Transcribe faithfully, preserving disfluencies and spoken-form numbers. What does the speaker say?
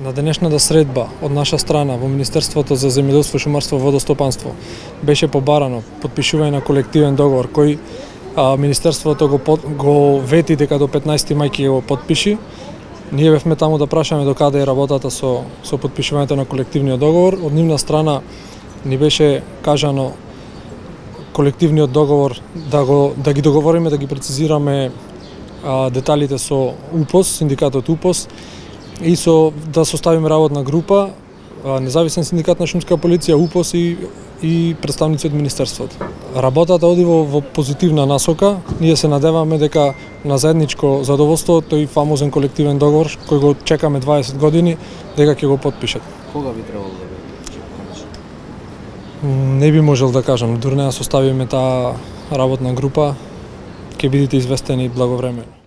На денешната средба од наша страна во Министерството за земјоделство, шумарство и водостопанство беше побарано потпишување на колективен договор кој а, Министерството го, под, го вети дека до петнаесети мај ќе го потпиши. Ние бевме таму да прашаме до каде е работата со, со потпишувањето на колективниот договор. Од нивна страна ни беше кажано колективниот договор да, го, да ги договориме, да ги прецизираме а, деталите со УПОС, синдикатот УПОС, и со да составиме работна група, независен синдикат на шумска полиција, УПОС и, и представници од Министерството. Работата оди во, во позитивна насока. Ние се надеваме дека на заедничко задоволство тој фамозен колективен договор кој го чекаме дваесет години, дека ќе го потпишат. Кога би требало да го Не би можел да кажам, дури не да составиме таа работна група, ќе бидете известени благовремено.